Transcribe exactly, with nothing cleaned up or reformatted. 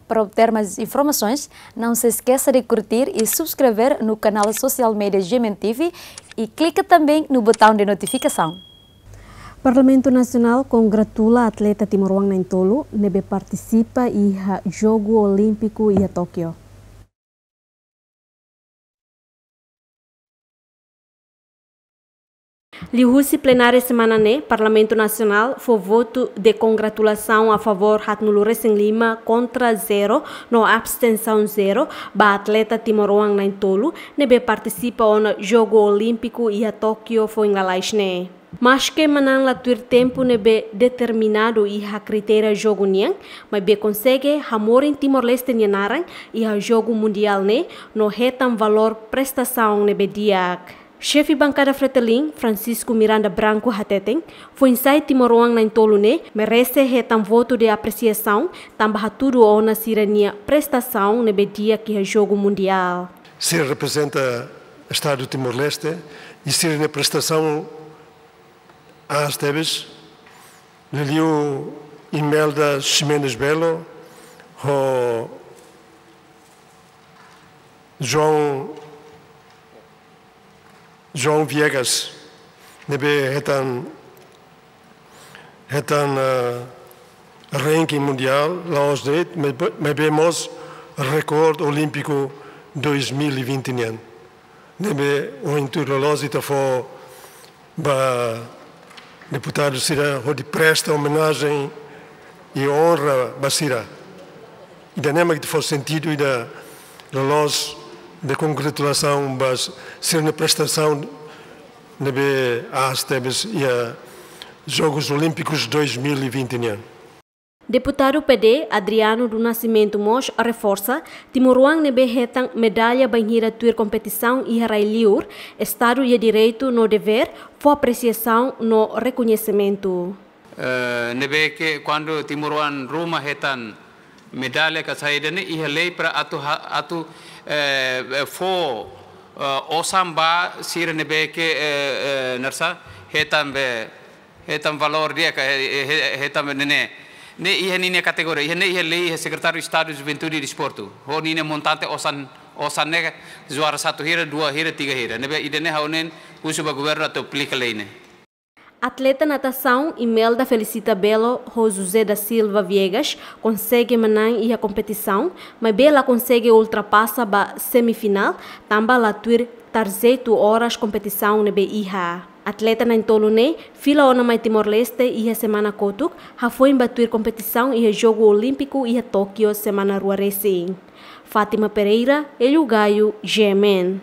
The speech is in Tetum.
Para obter mais informações, não se esqueça de curtir e subscrever no canal social media G M N T V e clica também no botão de notificação. Parlamentu Nasionál kongratula atleta timoroan na'in-tolu ne'ebé partisipa iha Jogu Olímpiku iha Tókio. Liuhusi plenária semana ne'e, Parlamentu Nasionál fó votu de kongratulasaun a favór haatnulu-resin-lima, kontra zero no abstensaun zero ba atleta timoroan na'in-tolu ne'ebé partisipa ona Jogu Olímpiku iha Tókio foin lalais ne'e. Maske manán la tuir tempu ne'ebé determinadu iha kritéria jogu nian, maibé konsege hamorin Timor-Leste nia naran iha Jogu Mundiál ne'e no hetan valór prestasaun ne'ebé di'ak. Xefe Bankada Fretilin, Francisco Miranda Branco hateten, foin-sa'e timoroan na'in-tolu ne'e merese hetan votu de apresiasaun tanba hatudu ona sira-nia prestasaun ne'ebé di'ak iha Jogu Mundiál. Sira reprezenta Estadu Timor-Leste i sira-nia prestasaun aas tebes. Liuliu Imelda Ximenes Belo ho João, João Viegas, ne'ebé hetan, hetan, eh, ranking mundiál, la'ós de'it, maibé, maibé mós rekorde olímpiku dois mil e vinte nian. Ne'ebé ohin tuir loloos ita fó ba deputadu sira hodi presta omenajen i onra ba sira. Ida-ne'e mak ita fó sentidu ida loloos de kongratulasaun ba sira-nia prestasaun ne'ebé aas tebes iha Jogus Olímpikus dois mil e vinte nian. Deputadu P D, Adriano do Nascimento mós reforsa, timoroan ne'ebé hetan medalla bainhira tuir kompetisaun iha rai-liur, Estadu iha direitu no devér fó apresiasaun no rekoñesimentu. Eh, ne'ebé ke kuandu timoroan ruma hetan medalla ka saida ne'e iha lei para atu ha-, atu, eh, fó, eh, osan ba sira ne'ebé ke, eh, eh, naran sá, hetan be hetan valór di'ak, eh, eh, eh, hetan be ne'e. Ne'e iha ninia kategoria, iha ne'e iha lei, iha Sekretáriu Estadu Juventude e Desportu. Ho ninia montante osan, osan ne'e juara satu hira, dua hira, tiga hira. Ne'ebé ida-ne'e ha'u ne'e husu ba governu atu aplika lei ne'e. Atleta natasaun Imelda Felicita Belo ho José da Silva Viegas konsege manán iha kompetisaun, maibé la konsege ultrapasa ba semifinál, tanba la tuir tarjetu oras kompetisaun ne'ebé iha. Atleta na'in-tolu ne'e fila ona mai Timor-Leste iha semana kotuk, hafoin ba tuir kompetisaun iha Jogu Olímpiku iha Tókio semana rua resin. Fátima Pereira, Hélio Gaio, G M N.